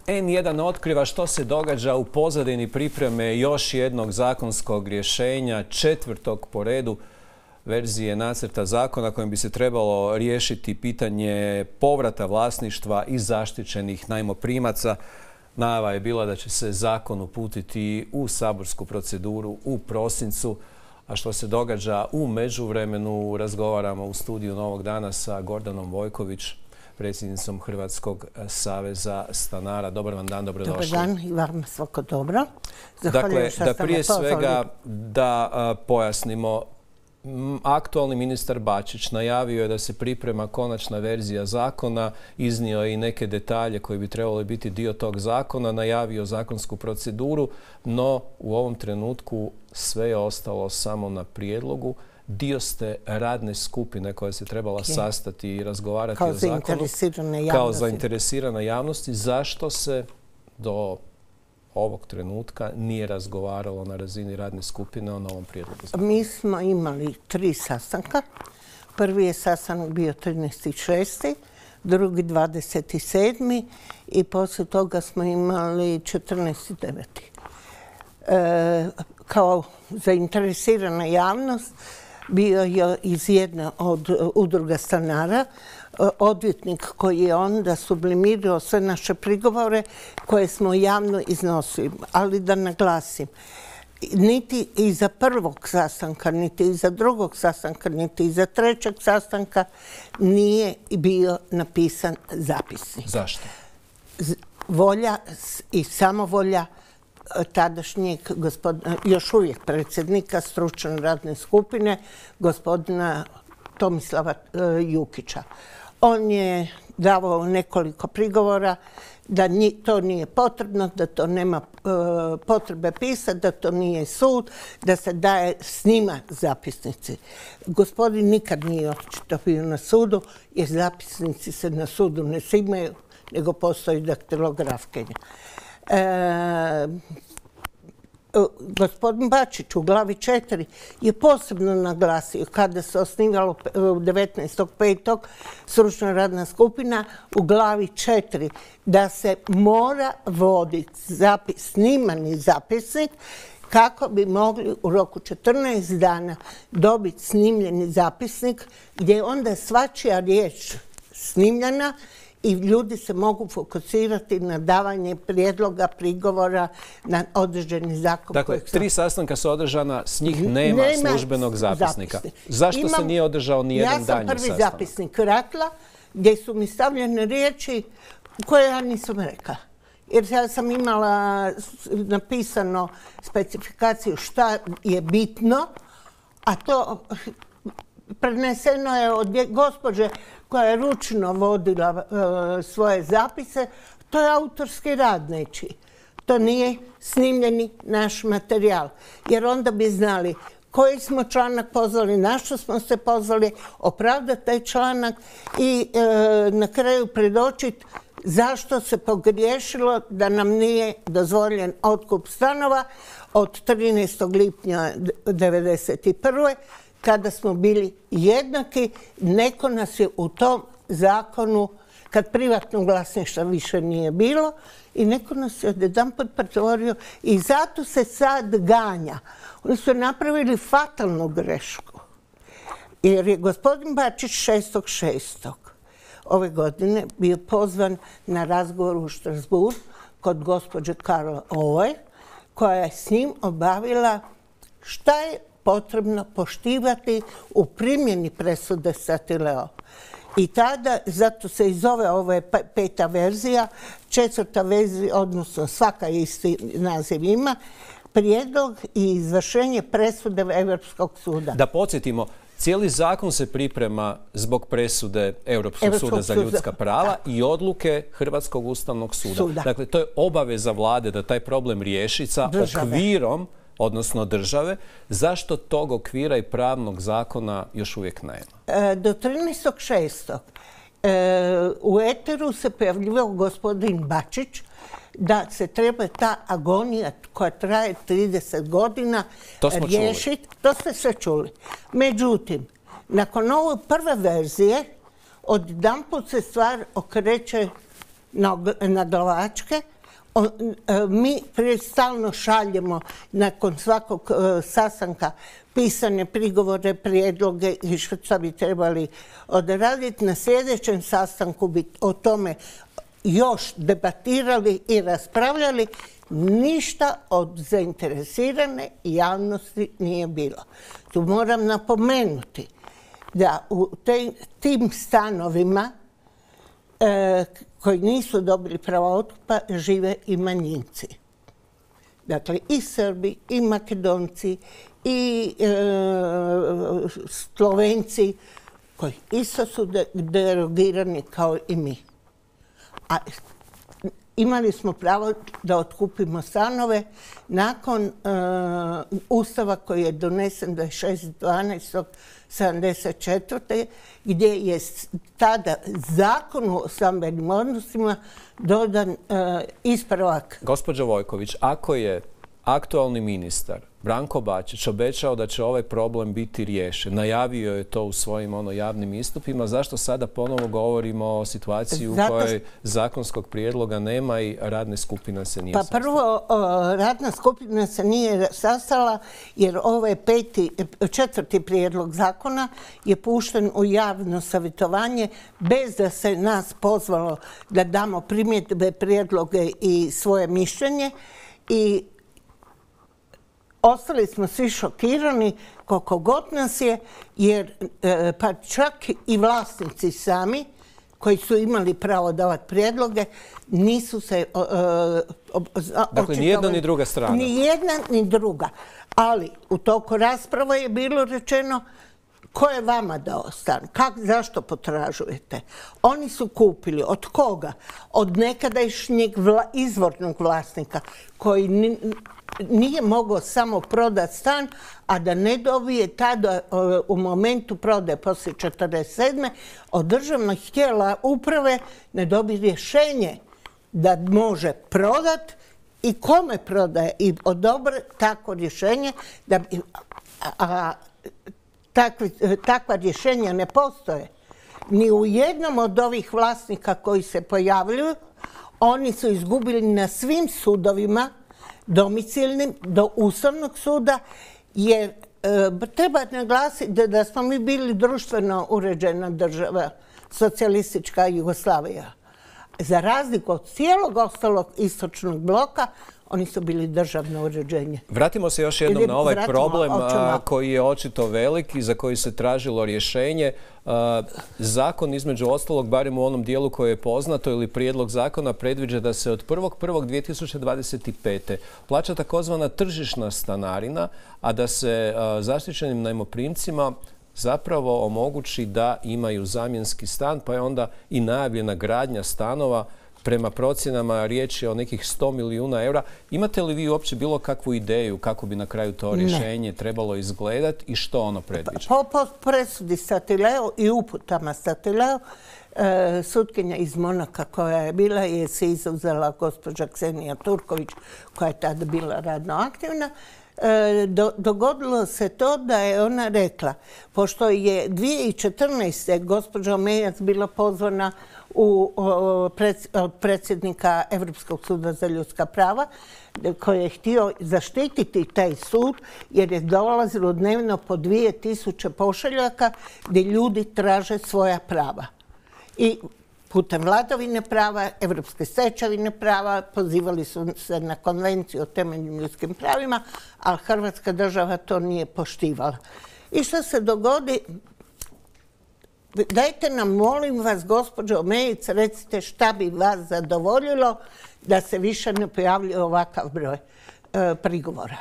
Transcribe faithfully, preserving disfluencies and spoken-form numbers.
en jedan otkriva što se događa u pozadini pripreme još jednog zakonskog rješenja, četvrtog po redu verzije nacrta zakona kojim bi se trebalo riješiti pitanje povrata vlasništva i zaštićenih najmoprimaca. Najava je bila da će se zakon uputiti u saborsku proceduru u prosincu. A što se događa u međuvremenu, razgovaramo u studiju Novog dana sa Gordanom Vojković, predsjednicom Hrvatskog saveza stanara. Dobar vam dan, dobrodošli. Dobar dan i vam svako dobro. Dakle, da prije svega da a, pojasnimo, aktualni ministar Bačić najavio je da se priprema konačna verzija zakona, iznio je i neke detalje koji bi trebali biti dio tog zakona, najavio zakonsku proceduru, no u ovom trenutku sve je ostalo samo na prijedlogu. Dio ste radne skupine koja se trebala okay. sastati i razgovarati kao o zakonu zainteresirane kao zainteresirana javnosti. Zašto se do ovog trenutka nije razgovaralo na razini radne skupine o novom prijedlogu zakona? Mi smo imali tri sastanka. Prvi je sastanak bio trinaesti šesti, drugi dvadeset sedmi i poslije toga smo imali četrnaesti deveti E, kao zainteresirana javnost bio je iz jedne od udruga stanara odvjetnik koji je onda sublimirao sve naše prigovore koje smo javno iznosili. Ali da naglasim, niti iza prvog sastanka, niti iza drugog sastanka, niti iza trećeg sastanka nije bio napisan zapisnik. Zašto? Volja i samovolja tadašnjeg gospodina, još uvijek predsjednika stručne radne skupine, gospodina Tomislava Jukića. On je davao nekoliko prigovora da to nije potrebno, da to nema potrebe pisati, da to nije sud, da se daje snima zapisnici. Gospodin nikad nije očito bio na sudu, jer zapisnici se na sudu ne snimaju, nego postoji daktilografkinja. E, gospodin Bačić u glavi četiri je posebno naglasio kada se osnivalo devetnaestog petog stručna radna skupina u glavi četiri da se mora voditi zapis, snimani zapisnik kako bi mogli u roku četrnaest dana dobiti snimljeni zapisnik gdje je onda svačija riječ snimljena i ljudi se mogu fokusirati na davanje prijedloga, prigovora na određeni zakon. Dakle, tri sastanka su održana, s njih nema, nema službenog zapisnika. Zapisnik. Zašto Imam, se nije održao ni jedan danji sastanak? Ja sam prvi zapisnik ratla gdje su mi stavljene riječi koje ja nisam rekla. Jer ja sam imala napisano specifikaciju šta je bitno, a to preneseno je od gospođe koja je ručno vodila uh, svoje zapise. To je autorski rad nečiji. To nije snimljeni naš materijal. Jer onda bi znali koji smo članak pozvali, na što smo se pozvali, opravdati taj članak i uh, na kraju predočiti zašto se pogriješilo da nam nije dozvoljen otkup stanova od trinaestog lipnja devedeset prve kada smo bili jednaki. Neko nas je u tom zakonu, kad privatnog vlasništva više nije bilo, i neko nas je odjedanput pretvorio i zato se sad ganja. Oni su napravili fatalnu grešku. Jer je gospodin Bačić šestog šestog ove godine bio pozvan na razgovor u Strasbourg kod gospođe Karla Ove, koja je s njim obavila šta je potrebno poštivati u primjeni presude Statileo. I tada, zato se i zove ova peta verzija, četvrta verzija, odnosno svaka isti naziv ima, prijedlog i izvršenje presude Europskog suda. Da podsjetimo, cijeli zakon se priprema zbog presude Europskog, Europskog suda za ljudska prava da. i odluke Hrvatskog ustavnog suda. suda. Dakle, to je obaveza vlade da taj problem riješi sa Države. okvirom, odnosno države. Zašto tog okvira i pravnog zakona još uvijek nema? E, do trinaestog šestog E, u eteru se pojavljivao gospodin Bačić da se treba ta agonija koja traje trideset godina riješiti. To ste sve čuli. Međutim, nakon ove prve verzije, odjedanput se stvar okreće na glavačke. Mi stalno šaljemo nakon svakog sastanka pisane prigovore, prijedloge i što bi trebali odraditi. Na sljedećem sastanku bi o tome još debatirali i raspravljali. Ništa od zainteresirane javnosti nije bilo. Tu moram napomenuti da u tim stanovima koji nisu dobili pravo otkupa žive i manjinci. Dakle, i Srbi, i Makedonci, i Slovenci, koji isto su derogirani kao i mi. A imali smo pravo da otkupimo stanove nakon Ustava koji je donesen dvadeset šestog dvanaestog sedamdeset četvrte gdje je tada Zakonu o stambenim odnosima dodan ispravak. Gospođo Vojković, ako je aktualni ministar Branko Bačić obećao da će ovaj problem biti riješen, najavio je to u svojim ono, javnim istupima, zašto sada ponovo govorimo o situaciji u kojoj zakonskog prijedloga nema i radna skupina se nije sastala? Pa prvo, radna skupina se nije sastala jer ovaj peti, četvrti prijedlog zakona je pušten u javno savjetovanje bez da se nas pozvalo da damo primjedbe, prijedloge i svoje mišljenje i ostali smo svi šokirani koliko god nas je, jer pa čak i vlasnici sami koji su imali pravo davati prijedloge nisu se očitovali. Dakle, ni jedna ni druga strana. Ni jedna ni druga. Ali u toku rasprave je bilo rečeno ko je vama dao stan? Kak, zašto potražujete? Oni su kupili. Od koga? Od nekadašnjeg vla, izvornog vlasnika koji ni, nije mogao samo prodati stan, a da ne dobije tada u momentu prodaje poslije četrdeset sedme od državnih tijela uprave ne dobije rješenje da može prodati i kome prodaje i odobre takvo rješenje da bi, a, a Takvi, takva rješenja ne postoje. Ni u jednom od ovih vlasnika koji se pojavljuju, oni su izgubili na svim sudovima, domicilnim, do Ustavnog suda, jer e, treba naglasiti da, da smo mi bili društveno uređena država, socijalistička Jugoslavija. Za razliku od cijelog ostalog istočnog bloka, oni su bili državno uređenje. Vratimo se još jednom na ovaj problem koji je očito velik i za koji se tražilo rješenje. Zakon, između ostalog, barem u onom dijelu koje je poznato ili prijedlog zakona, predviđa da se od prvog prvog dvije tisuće dvadeset pete plaća takozvana tržišna stanarina, a da se zaštićenim najmoprimcima zapravo omogući da imaju zamjenski stan, pa je onda i najavljena gradnja stanova. Prema procjenama riječ je o nekih sto milijuna eura. Imate li vi uopće bilo kakvu ideju kako bi na kraju to rješenje ne. trebalo izgledati i što ono predviđa? Po, po presudi Statileo i uputama Statileo, e, sutkinja iz Monaka koja je bila je se izuzela gospođa Ksenija Turković koja je tada bila radno aktivna. E, do, dogodilo se to da je ona rekla, pošto je dvije tisuće četrnaeste. gospođa Omejac bila pozvana u, o, pred, od predsjednika Europskog suda za ljudska prava, koji je htio zaštititi taj sud, jer je dolazilo dnevno po dvije tisuće pošiljaka gdje ljudi traže svoja prava. I putem vladavine prava, evropske stečevine prava, pozivali su se na konvenciju o temeljnim ljudskim pravima, ali Hrvatska država to nije poštivala. I što se dogodi? Dajte nam, molim vas, gospođo Omejic, recite šta bi vas zadovoljilo da se više ne pojavljuje ovakav broj e, prigovora.